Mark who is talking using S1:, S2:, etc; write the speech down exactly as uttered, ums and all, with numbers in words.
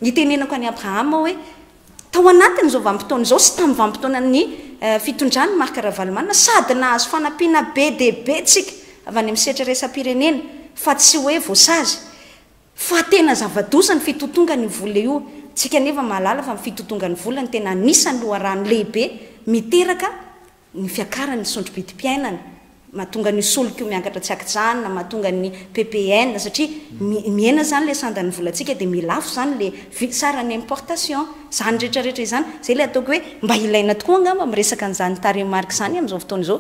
S1: Itenenako an'i Abrahama hoe tao anatin'izao vanim-potoana izao sy tamin'ny vanim-potoanan'ny fitondran'i Marc Ravalomanana, sady nahazo fanampiana be dia be tsika avy any amin'ny sehatra iraisam-pirenena, fa tsy hoe voasazy, fa tena zava-doza ny fitotongan'io vola io. Tsika nefa mahalala fa ny fitotongan'ny vola no tena anisan'ny loharano lehibe miteraka ny fiakaran'ny sondro-bidim-piainana, mahatonga ny solika io miakatra tsy ankijanona, mahatonga ny P P N, satria mihena zany le sandan'ny volantsika, dia milafo zany le saran'ny importation zany rehetrarehetra izany. Zay le ataoko hoe mba ilaina tokoa angamba miresaka an'izany tarehimarika izany amin'izao fotoana izao.